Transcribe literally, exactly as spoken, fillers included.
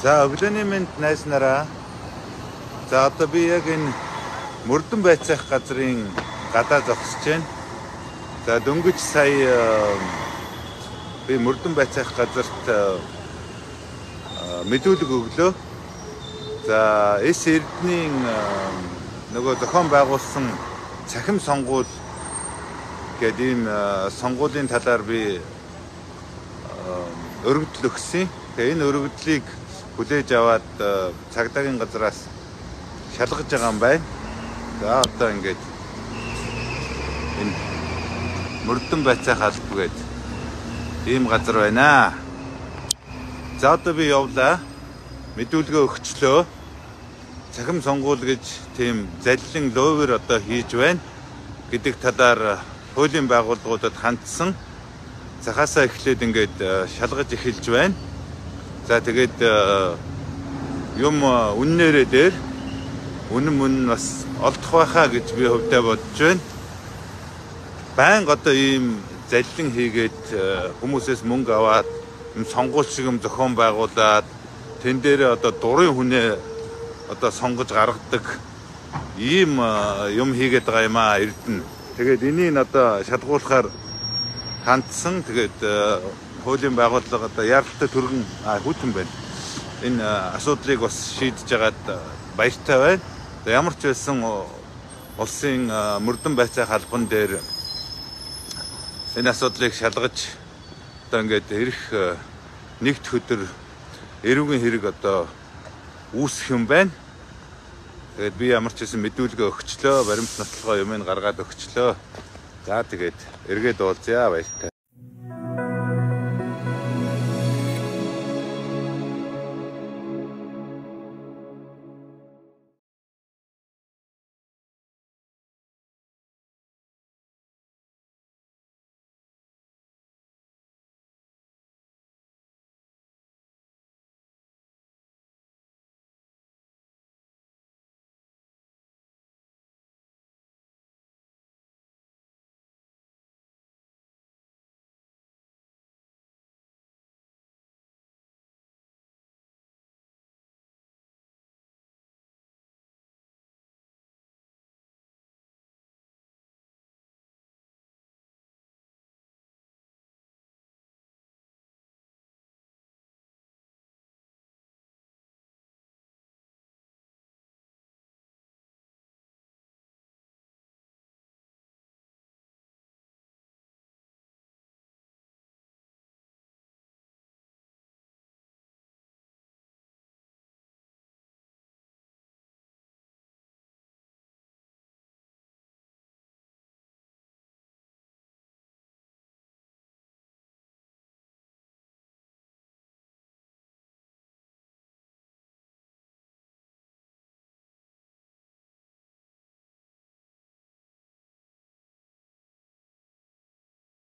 За өглөөний мэнд найз нараа. За одоо би яг энэ Мөрдөн байцаах газрын гадаа зогсож байна. За дөнгөж сая би Мөрдөн байцаах газарт мэдүүлэг өглөө. За эс эрдэнийн нөгөө зохион байгуулсан цахим сонгуул гэдэг ийм сонгуулийн талаар би өргөдөл өгсөн. Тэгээ энэ өргөдлийг хүлээж аваад цагдаагийн газраас шалгаж байгаа юм байна. За одоо ингээд энэ Мөрдөн байцаах алба гэдэг ийм газар байна. За одоо би явлаа. Мэдүүлгээ өгчлөө. Цахим сонгуул гэж тийм заллин ловер одоо хийж байна гэдэг талаар хуулийн байгууллагуудад хандсан. Захаасаа эхлээд ингээд шалгаж эхэлж байна. За тэгээд юм үннээрээ дээр үнэн мөн бас олдох байхаа гэж би хөвдөө бодож байна. Баян одоо ийм заллин хийгээд хүмүүсээс мөнгө аваад сонгуул шиг юм зохион байгуулад тэн дээр одоо дурын хүнээ одоо сонгож гаргадаг ийм юм хийгээд байгаа юм аа Эрдэнэ. Тэгээд энийг одоо шалгуулахаар хандсан. Тэгээд хуулийн байгууллага одоо яралтай төргөн хүйтэн байна. Энэ асуудлыг бас шийдэж байгаад баяртай байна. Ямар ч байсан улсын Мөрдөн байцаах албан дээр энэ асуудлыг шалгаж одоо ингээд ирэх нэгд өдөр эрүүгийн хэрэг одоо үүсэх юм байна. Тэгээд би ямар ч байсан мэдүүлгээ өгчлөө, баримт нотлогоо юмыг гаргаад өгчлөө. За тэгээд эргээд уулзъя баяртай.